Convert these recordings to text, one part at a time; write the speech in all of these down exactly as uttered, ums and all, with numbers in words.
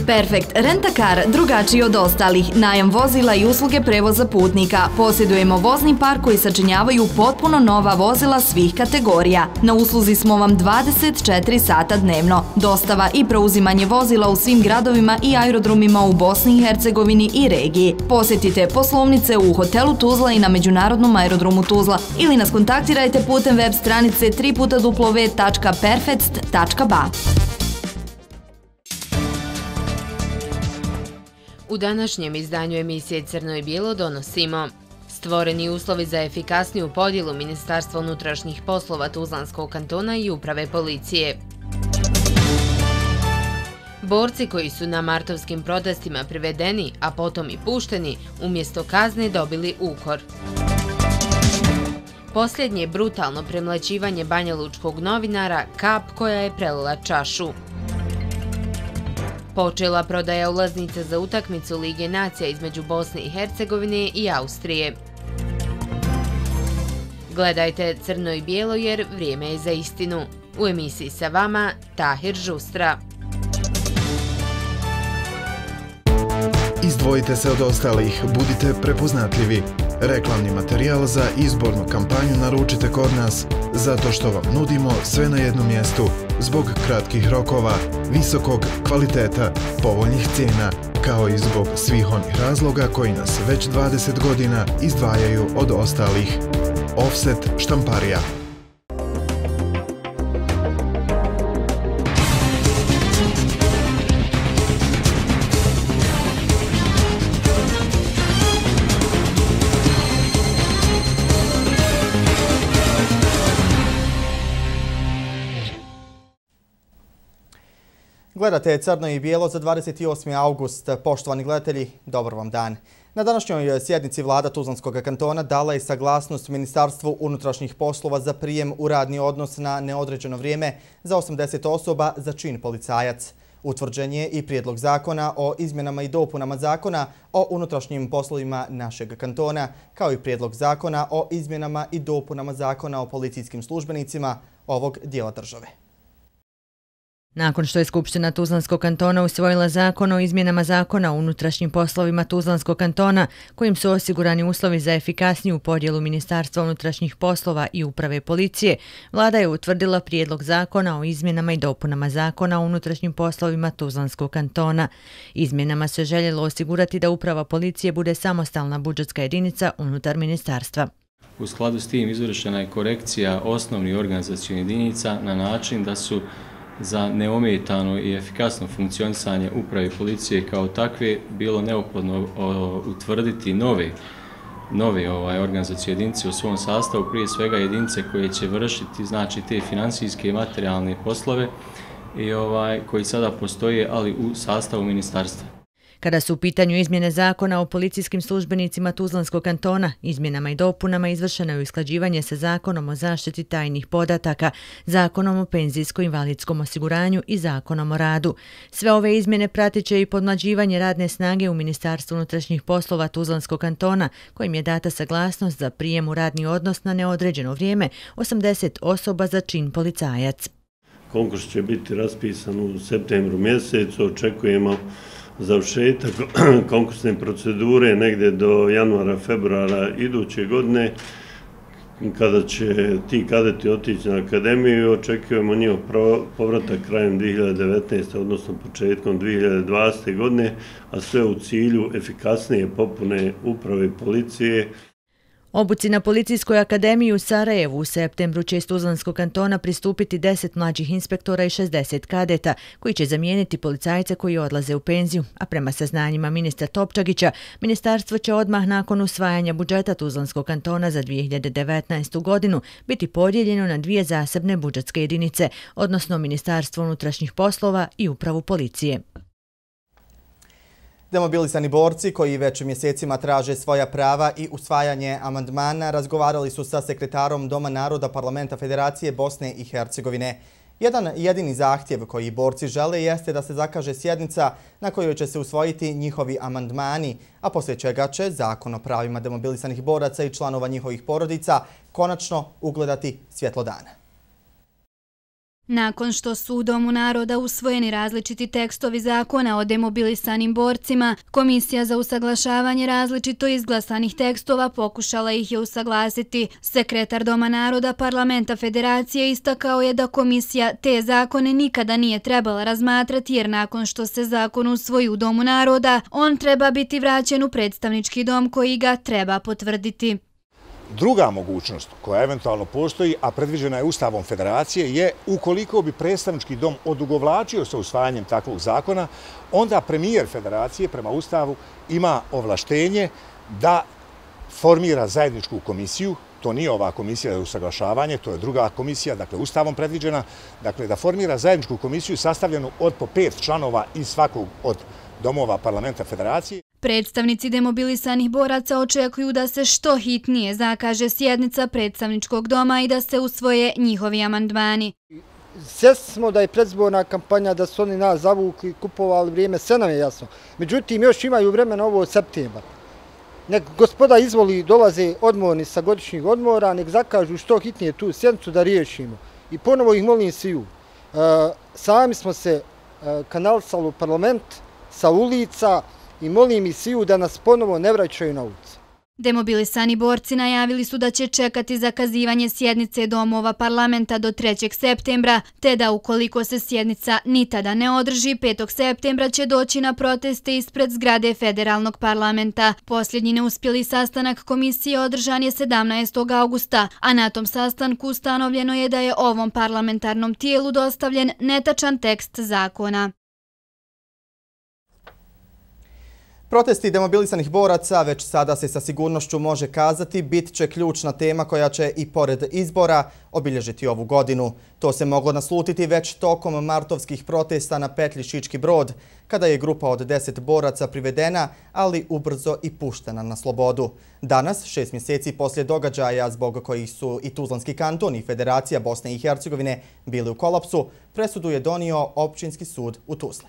Perfekt Rent-A-Car, drugačiji od ostalih, najam vozila i usluge prevoza putnika. Posjedujemo vozni park koji sačinjavaju potpuno nova vozila svih kategorija. Na usluzi smo vam dvadeset četiri sata dnevno. Dostava i preuzimanje vozila u svim gradovima i aerodromima u Bosni i Hercegovini i regiji. Posjetite poslovnice u hotelu Tuzla i na Međunarodnom aerodromu Tuzla ili nas kontaktirajte putem web stranice w w w tačka perfect tačka b a. U današnjem izdanju emisije Crno i bijelo donosimo: stvoreni uslovi za efikasniju podjelu Ministarstva unutrašnjih poslova Tuzlanskog kantona i uprave policije. Borci koji su na martovskim protestima privedeni, a potom i pušteni, umjesto kazne dobili ukor. Posljednje brutalno premlaćivanje banjalučkog novinara, kap koja je prelila čašu. Počela prodaja ulaznica za utakmicu Lige nacija između Bosne i Hercegovine i Austrije. Gledajte Crno i bijelo jer vrijeme je za istinu. U emisiji sa vama Tahir Žustra. Izdvojite se od ostalih, budite prepoznatljivi. Reklamni materijal za izbornu kampanju naručite kod nas, zato što vam nudimo sve na jednom mjestu, zbog kratkih rokova, visokog kvaliteta, povoljnih cijena, kao i zbog svih onih razloga koji nas već dvadeset godina izdvajaju od ostalih. Offset štamparija. Gledate Crno i bijelo za dvadeset osmi august. Poštovani gledatelji, dobar vam dan. Na današnjoj sjednici vlada Tuzlanskog kantona dala je saglasnost Ministarstvu unutrašnjih poslova za prijem u radni odnos na neodređeno vrijeme za osamdeset osoba za čin policajac. Utvrđen je i prijedlog zakona o izmjenama i dopunama zakona o unutrašnjim poslovima našeg kantona, kao i prijedlog zakona o izmjenama i dopunama zakona o policijskim službenicima ovog dijela države. Nakon što je Skupština Tuzlanskog kantona usvojila zakon o izmjenama zakona o unutrašnjim poslovima Tuzlanskog kantona, kojim su osigurani uslovi za efikasniju podjelu Ministarstva unutrašnjih poslova i uprave policije, vlada je utvrdila prijedlog zakona o izmjenama i dopunama zakona o unutrašnjim poslovima Tuzlanskog kantona. Izmjenama se željelo osigurati da uprava policije bude samostalna budžetska jedinica unutar ministarstva. U skladu s tim izvršena je korekcija osnovnih organizacijskih jedinica na način da su za neometano i efikasno funkcionisanje uprave policije kao takve bilo neophodno utvrditi nove, nove ovaj, organizacijske jedinice u svom sastavu, prije svega jedinice koje će vršiti znači, te financijske i materijalne poslove i ovaj, koji sada postoje, ali u sastavu ministarstva. Kada su u pitanju izmjene zakona o policijskim službenicima Tuzlanskog kantona, izmjenama i dopunama izvršeno je usklađivanje sa zakonom o zaštiti tajnih podataka, zakonom o penzijsko-invalidskom osiguranju i zakonom o radu. Sve ove izmjene pratit će i podmlađivanje radne snage u Ministarstvu unutrašnjih poslova Tuzlanskog kantona, kojim je data saglasnost za prijem u radni odnos na neodređeno vrijeme osamdeset osoba za čin policajac. Konkurs će biti raspisan u septembru mjesecu, očekujemo završetak konkursne procedure negdje do januara, februara iduće godine, kada će ti kadeti otići na akademiju i očekujemo njihov povratak krajem dvije hiljade devetnaeste. odnosno početkom dvije hiljade dvadesete. godine, a sve u cilju efikasnije popune uprave policije. Obuci na Policijskoj akademiji u Sarajevu u septembru će iz Tuzlanskog kantona pristupiti deset mlađih inspektora i šezdeset kadeta koji će zamijeniti policajce koji odlaze u penziju, a prema saznanjima ministra Topčagića, ministarstvo će odmah nakon usvajanja budžeta Tuzlanskog kantona za dvije hiljade devetnaestu. godinu biti podijeljeno na dvije zasebne budžetske jedinice, odnosno Ministarstvo unutrašnjih poslova i upravu policije. Demobilisani borci koji već mjesecima traže svoja prava i usvajanje amandmana razgovarali su sa sekretarom Doma naroda Parlamenta Federacije Bosne i Hercegovine. Jedan jedini zahtjev koji borci žele jeste da se zakaže sjednica na kojoj će se usvojiti njihovi amandmani, a poslije čega će Zakon o pravima demobilisanih boraca i članova njihovih porodica konačno ugledati svjetlo dana. Nakon što su u Domu naroda usvojeni različiti tekstovi zakona o demobilisanim borcima, Komisija za usaglašavanje različito izglasanih tekstova pokušala ih je usaglasiti. Sekretar Doma naroda Parlamenta Federacije istakao je da komisija te zakone nikada nije trebala razmatrati jer nakon što se zakon usvoji u Domu naroda, on treba biti vraćen u predstavnički dom koji ga treba potvrditi. Druga mogućnost koja eventualno postoji, a predviđena je Ustavom Federacije, je ukoliko bi predstavnički dom odugovlačio sa usvajanjem takvog zakona, onda premijer Federacije prema Ustavu ima ovlaštenje da formira zajedničku komisiju. To nije ova komisija za usaglašavanje, to je druga komisija, dakle Ustavom predviđena, dakle da formira zajedničku komisiju sastavljenu od po pet članova iz svakog od domova Parlamenta Federacije. Predstavnici demobilisanih boraca očekuju da se što hitnije zakaže sjednica predstavničkog doma i da se usvoje njihovi amandmani. Svjesni smo da je predizborna kampanja, da su oni nas zavukli, kupovali vrijeme, sve nam je jasno. Međutim, još imaju vremena ovo od septembra. Nek gospoda izvoli dolaze odmorni sa godišnjih odmora, nek zakažu što hitnije tu sjednicu da riješimo. I ponovo ih molim sviju. Sami smo se kanalisali u parlament sa ulica i molim ih sviju da nas ponovo ne vraćaju na ulicu. Demobilisani borci najavili su da će čekati zakazivanje sjednice domova parlamenta do trećeg septembra, te da ukoliko se sjednica ni tada ne održi, petog septembra će doći na proteste ispred zgrade federalnog parlamenta. Posljednji neuspjeli sastanak komisije održan je sedamnaestog augusta, a na tom sastanku ustanovljeno je da je ovom parlamentarnom tijelu dostavljen netačan tekst zakona. Protesti demobilisanih boraca, već sada se sa sigurnošću može kazati, bit će ključna tema koja će i pored izbora obilježiti ovu godinu. To se moglo naslutiti već tokom martovskih protesta na petlji Šički Brod, kada je grupa od deset boraca privedena, ali ubrzo i puštena na slobodu. Danas, šest mjeseci poslije događaja zbog kojih su i Tuzlanski kanton i Federacija Bosne i Hercegovine bili u kolapsu, presudu je donio Općinski sud u Tuzli.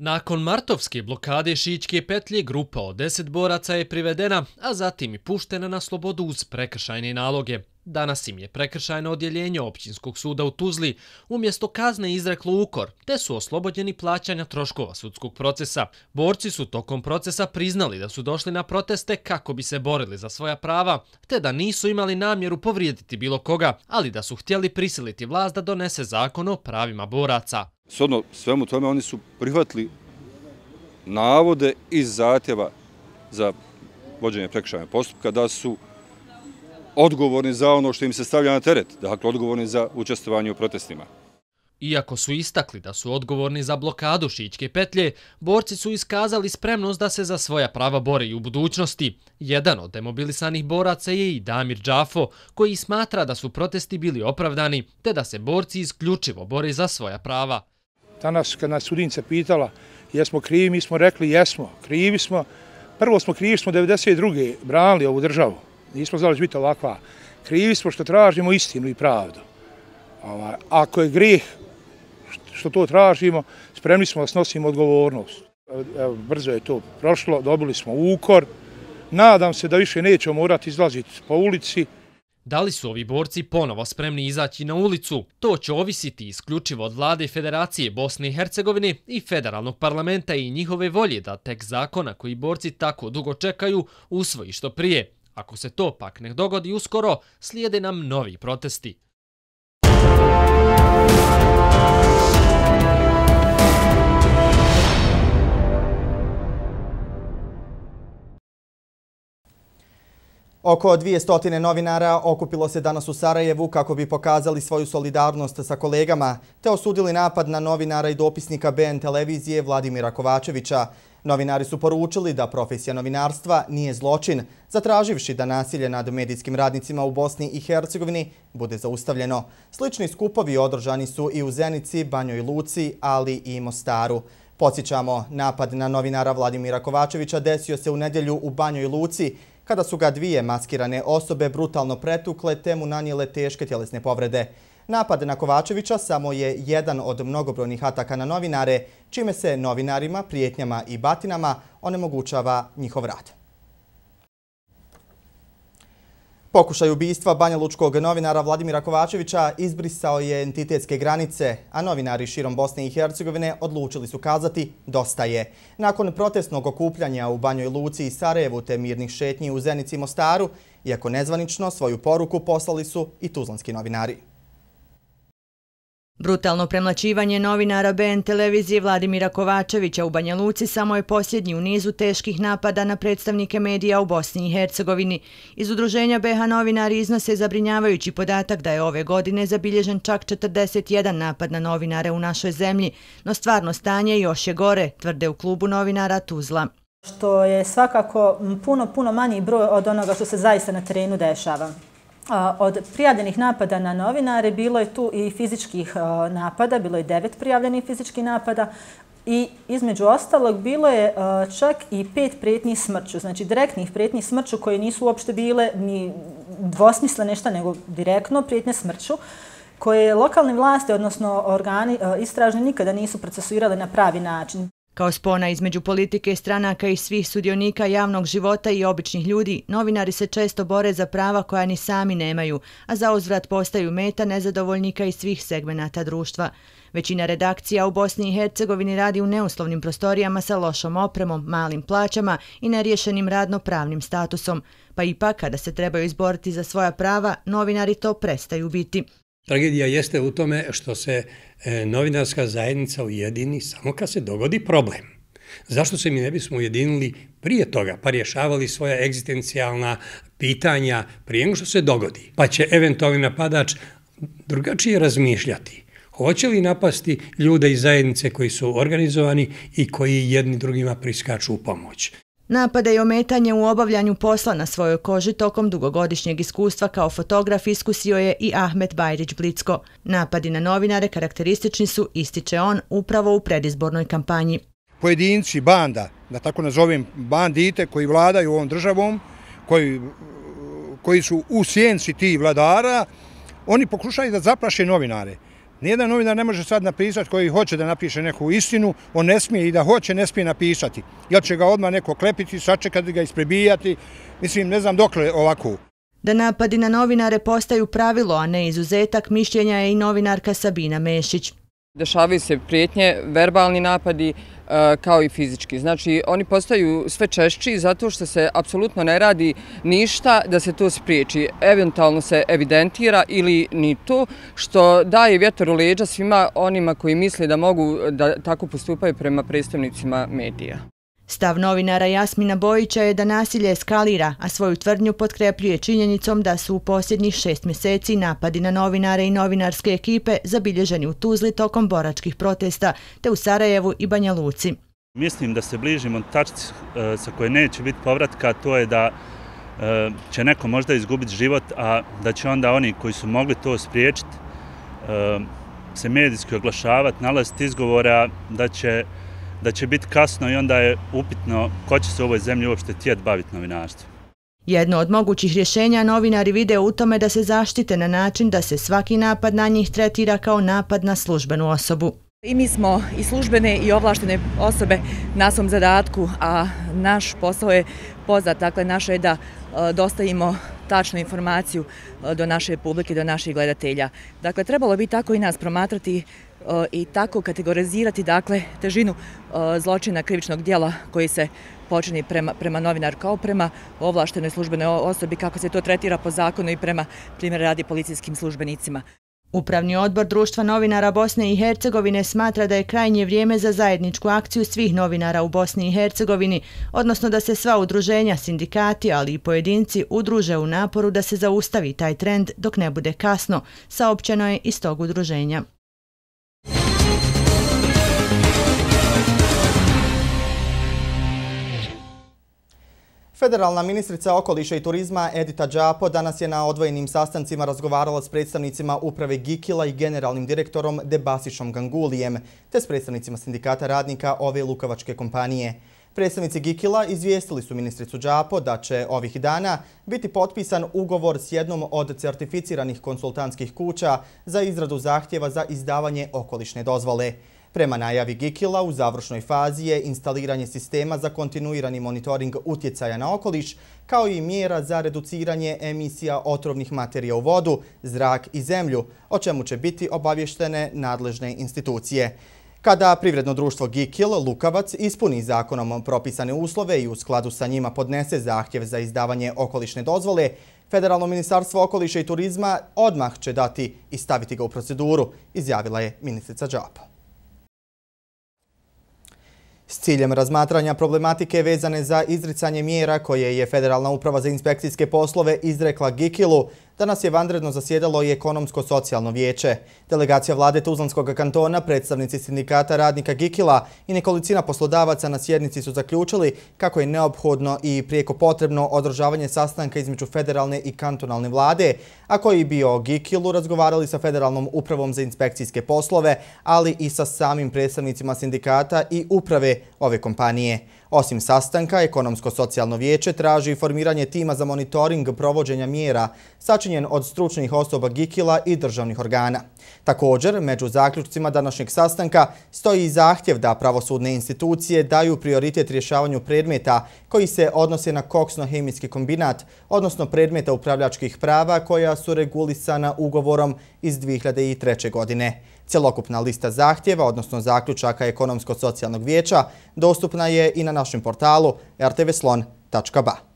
Nakon martovske blokade Šičke petlje, grupa od deset boraca je privedena, a zatim i puštena na slobodu uz prekršajne naloge. Danas im je prekršajno odjeljenje Općinskog suda u Tuzli umjesto kazne izreklo ukor, te su oslobođeni plaćanja troškova sudskog procesa. Borci su tokom procesa priznali da su došli na proteste kako bi se borili za svoja prava, te da nisu imali namjeru povrijediti bilo koga, ali da su htjeli prisiliti vlast da donese zakon o pravima boraca. Shodno svemu tome oni su prihvatili navode iz zahtjeva za vođenje prekršajnog postupka da su odgovorni za ono što im se stavlja na teret, dakle odgovorni za učestvovanje u protestima. Iako su istakli da su odgovorni za blokadu Šičke petlje, borci su iskazali spremnost da se za svoja prava bore i u budućnosti. Jedan od demobilisanih boraca je i Damir Džafo, koji smatra da su protesti bili opravdani, te da se borci isključivo bore za svoja prava. Danas kad nas sudnica pitala jesmo krivi, mi smo rekli jesmo, krivi smo. Prvo smo krivi smo devedeset druge branili ovu državu. Nismo znali da će biti ovakva. Krivi smo što tražimo istinu i pravdu. Ako je grijeh što to tražimo, spremni smo da snosimo odgovornost. Evo, brzo je to prošlo, dobili smo ukor. Nadam se da više nećemo morati izlaziti po ulici. Da li su ovi borci ponovo spremni izaći na ulicu? To će ovisiti isključivo od vlade Federacije Bosne i Hercegovine i federalnog parlamenta i njihove volje da tekst zakona koji borci tako dugo čekaju usvoji što prije. Ako se to pak ne dogodi uskoro, slijede nam novi protesti. Oko dvjesto novinara okupilo se danas u Sarajevu kako bi pokazali svoju solidarnost sa kolegama te osudili napad na novinara i dopisnika B N televizije Vladimira Kovačevića. Novinari su poručili da profesija novinarstva nije zločin, zatraživši da nasilje nad medijskim radnicima u Bosni i Hercegovini bude zaustavljeno. Slični skupovi održani su i u Zenici, Banjoj Luci, ali i Mostaru. Podsjećamo, napad na novinara Vladimira Kovačevića desio se u nedjelju u Banjoj Luci, kada su ga dvije maskirane osobe brutalno pretukle te mu nanijele teške tjelesne povrede. Napad na Kovačevića samo je jedan od mnogobrojnih ataka na novinare, čime se novinarima, prijetnjama i batinama onemogućava njihov rad. Pokušaj ubistva banjalučkog novinara Vladimira Kovačevića izbrisao je entitetske granice, a novinari širom Bosne i Hercegovine odlučili su kazati dosta je. Nakon protestnog okupljanja u Banjoj Luci i Sarajevu te mirnih šetnji u Zenici i Mostaru, iako nezvanično, svoju poruku poslali su i tuzlanski novinari. Brutalno premlaćivanje novinara B N televizije Vladimira Kovačevića u Banja Luci samo je posljednji u nizu teških napada na predstavnike medija u Bosni i Hercegovini. Iz udruženja B H novinari iznose zabrinjavajući podatak da je ove godine zabilježen čak četrdeset jedan napad na novinare u našoj zemlji, no stvarno stanje još je gore, tvrde u klubu novinara Tuzla. Što je svakako puno, puno manji broj od onoga što se zaista na terenu dešava. Od prijavljenih napada na novinare bilo je tu i fizičkih napada, bilo je devet prijavljenih fizičkih napada i između ostalog bilo je čak i pet prijetnji smrću, znači direktnih prijetnji smrću koje nisu uopšte bile ni dvosmisle nešto, nego direktno prijetnje smrću koje lokalne vlasti, odnosno organi istražni nikada nisu procesuirali na pravi način. Kao spona između politike, stranaka i svih sudionika javnog života i običnih ljudi, novinari se često bore za prava koja ni sami nemaju, a za uzvrat postaju meta nezadovoljnika iz svih segmenata društva. Većina redakcija u Bosni i Hercegovini radi u neuslovnim prostorijama sa lošom opremom, malim plaćama i neriješenim radno-pravnim statusom, pa ipak kada se trebaju izboriti za svoja prava, novinari to prestaju biti. Tragedija jeste u tome što se novinarska zajednica ujedini samo kad se dogodi problem. Zašto se mi ne bismo ujedinili prije toga, pa rješavali svoja egzistencijalna pitanja prije nego što se dogodi? Pa će eventualni napadač drugačije razmišljati. Hoće li napasti ljude iz zajednice koji su organizovani i koji jedni drugima priskaču u pomoć? Napade i ometanje u obavljanju posla na svojoj koži tokom dugogodišnjeg iskustva kao fotograf iskusio je i Ahmet Bajrić Blicko. Napadi na novinare karakteristični su, ističe on, upravo u predizbornoj kampanji. Pojedinci, banda, da tako nazovem bandite koji vladaju ovom državom, koji, koji su u sjenci tih vladara, oni pokušaju da zaplaše novinare. Nijedan novinar ne može sad napisati koji hoće da napiše neku istinu, on ne smije i da hoće, ne smije napisati. Jer će ga odmah neko klepiti, sačekati ga, isprebijati. Mislim, ne znam dokle ovako. Da napadi na novinare postaju pravilo, a ne izuzetak, mišljenja je i novinarka Sabina Mešić. Dešavaju se prijetnje, verbalni napadi kao i fizički. Znači, oni postaju sve češći zato što se apsolutno ne radi ništa da se to spriječi. Eventualno se evidentira ili ni to, što daje vjetar u leđa svima onima koji misle da mogu da tako postupaju prema predstavnicima medija. Stav novinara Jasmina Bojića je da nasilje eskalira, a svoju tvrdnju potkrepljuje činjenicom da su u posljednjih šest mjeseci napadi na novinare i novinarske ekipe zabilježeni u Tuzli tokom boračkih protesta, te u Sarajevu i Banja Luci. Mislim da se bližimo tačci sa koje neće biti povratka, to je da će neko možda izgubiti život, a da će onda oni koji su mogli to spriječiti se medijski oglašavati, nalaziti izgovora da će da će biti kasno i onda je upitno ko će se u ovoj zemlji uopšte tijeti baviti novinarstvom. Jedno od mogućih rješenja novinari vide u tome da se zaštite na način da se svaki napad na njih tretira kao napad na službenu osobu. I mi smo i službene i ovlaštene osobe na svom zadatku, a naš posao je poznat, dakle naše je da dostavimo tačnu informaciju do naše publike, do naših gledatelja. Dakle, trebalo bi tako i nas promatrati i tako kategorizirati, dakle, težinu zločina krivičnog dijela koji se počini prema, prema novinar kao prema ovlaštenoj službenoj osobi, kako se to tretira po zakonu i prema, primjer radi, policijskim službenicima. Upravni odbor Društva novinara Bosne i Hercegovine smatra da je krajnje vrijeme za zajedničku akciju svih novinara u Bosni i Hercegovini, odnosno da se sva udruženja, sindikati, ali i pojedinci udruže u naporu da se zaustavi taj trend dok ne bude kasno, saopćeno je iz tog udruženja. Federalna ministrica okoliša i turizma Edita Đapo danas je na odvojenim sastancima razgovarala s predstavnicima uprave Gikila i generalnim direktorom Debasišom Gangulijem, te s predstavnicima sindikata radnika ove lukavačke kompanije. Predstavnici Gikila izvijestili su ministricu Đapo da će ovih dana biti potpisan ugovor s jednom od certificiranih konsultantskih kuća za izradu zahtjeva za izdavanje okolišne dozvole. Prema najavi Gikila, u završnoj fazi je instaliranje sistema za kontinuirani monitoring utjecaja na okoliš, kao i mjera za reduciranje emisija otrovnih materija u vodu, zrak i zemlju, o čemu će biti obavještene nadležne institucije. Kada privredno društvo Gikil Lukavac ispuni zakonom propisane uslove i u skladu sa njima podnese zahtjev za izdavanje okolišne dozvole, Federalno ministarstvo okoliša i turizma odmah će dati i staviti ga u proceduru, izjavila je ministrica Džapo. S ciljem razmatranja problematike vezane za izricanje mjera koje je Federalna uprava za inspekcijske poslove izrekla Gikilu, danas je vanredno zasjedalo i ekonomsko-socijalno vijeće. Delegacija vlade Tuzlanskog kantona, predstavnici sindikata radnika Gikila i nekolicina poslodavaca na sjednici su zaključili kako je neophodno i prijeko potrebno održavanje sastanka između federalne i kantonalne vlade, a koji bi o Gikilu razgovarali sa Federalnom upravom za inspekcijske poslove, ali i sa samim predstavnicima sindikata i uprave ove kompanije. Osim sastanka, ekonomsko-socijalno vijeće traži formiranje tima za monitoring provođenja mjera sačinjen od stručnih osoba Gikila i državnih organa. Također, među zaključcima današnjeg sastanka stoji i zahtjev da pravosudne institucije daju prioritet rješavanju predmeta koji se odnose na koksno-hemijski kombinat, odnosno predmeta upravljačkih prava koja su regulisana ugovorom iz dvije hiljade treće. godine. Celokupna lista zahtjeva, odnosno zaključaka ekonomsko-socijalnog vijeća, dostupna je i na našem portalu er te ve slon tačka ba.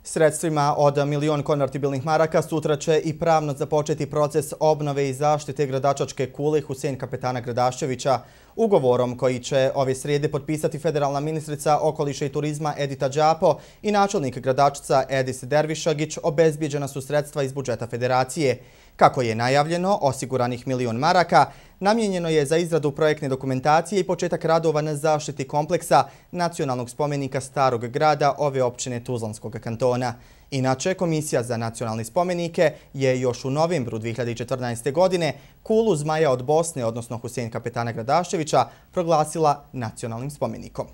Sredstvima od milion konvertibilnih maraka sutra će i pravno započeti proces obnove i zaštite gradačačke kule Husein Kapetana Gradaščevića. Ugovorom koji će ove srijede potpisati federalna ministrica okoliša i turizma Edita Džapo i načelnik Gradačca Edis Dervišagić obezbijeđena su sredstva iz budžeta federacije. Kako je najavljeno, osiguranih milion maraka namijenjeno je za izradu projektne dokumentacije i početak radova na zaštiti kompleksa nacionalnog spomenika Starog grada ove općine Tuzlanskog kantona. Inače, Komisija za nacionalne spomenike je još u novembru dvije hiljade četrnaeste. godine kulu Zmaja od Bosne, odnosno Husein Kapetana Gradaščevića, proglasila nacionalnim spomenikom.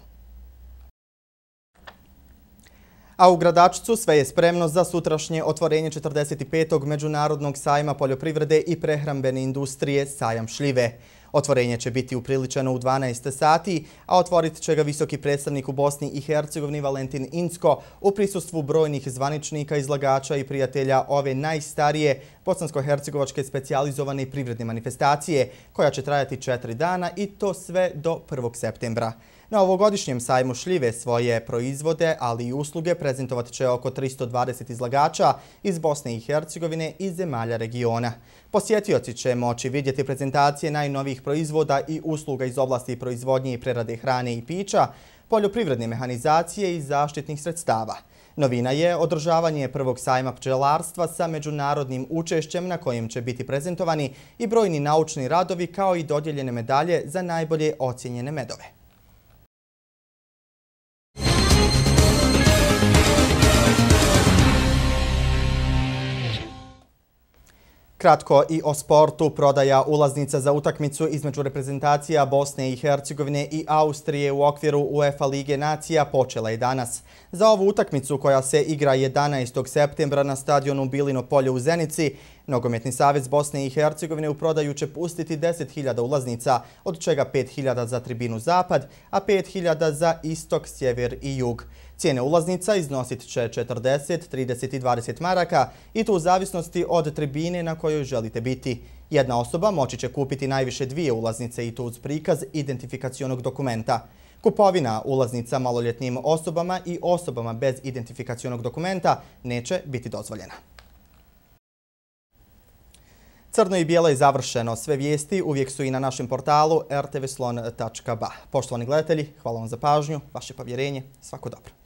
A u Gradačcu sve je spremno za sutrašnje otvorenje četrdeset petog Međunarodnog sajma poljoprivrede i prehrambene industrije Sajam šljive. Otvorenje će biti upriličeno u dvanaest sati, a otvorit će ga visoki predstavnik u Bosni i Hercegovini Valentin Incko u prisustvu brojnih zvaničnika, izlagača i prijatelja ove najstarije bosansko-hercegovačke specijalizovane i privredne manifestacije, koja će trajati četiri dana i to sve do prvog septembra. Na ovogodišnjem sajmu šljive svoje proizvode, ali i usluge prezentovat će oko tristo dvadeset izlagača iz Bosne i Hercegovine i zemalja regiona. Posjetioci će moći vidjeti prezentacije najnovijih proizvoda i usluga iz oblasti proizvodnje i prerade hrane i pića, poljoprivredne mehanizacije i zaštitnih sredstava. Novina je održavanje prvog sajma pčelarstva sa međunarodnim učešćem na kojem će biti prezentovani i brojni naučni radovi kao i dodijeljene medalje za najbolje ocijenjene medove. Kratko i o sportu. Prodaja ulaznica za utakmicu između reprezentacija Bosne i Hercegovine i Austrije u okviru UEFA Lige nacija počela je danas. Za ovu utakmicu koja se igra jedanaestog septembra na stadionu Bilino polje u Zenici, Nogometni savez Bosne i Hercegovine u prodaju će pustiti deset hiljada ulaznica, od čega pet hiljada za tribinu Zapad, a pet hiljada za istok, sjever i jug. Cijene ulaznica iznosit će četrdeset, trideset i dvadeset maraka i to u zavisnosti od tribine na kojoj želite biti. Jedna osoba moći će kupiti najviše dvije ulaznice i to uz prikaz identifikacionog dokumenta. Kupovina ulaznica maloljetnim osobama i osobama bez identifikacionog dokumenta neće biti dozvoljena. Crno i bijelo je završeno. Sve vijesti uvijek su i na našem portalu er te ve slon tačka ba. Poštovani gledatelji, hvala vam za pažnju, vaše povjerenje, svako dobro.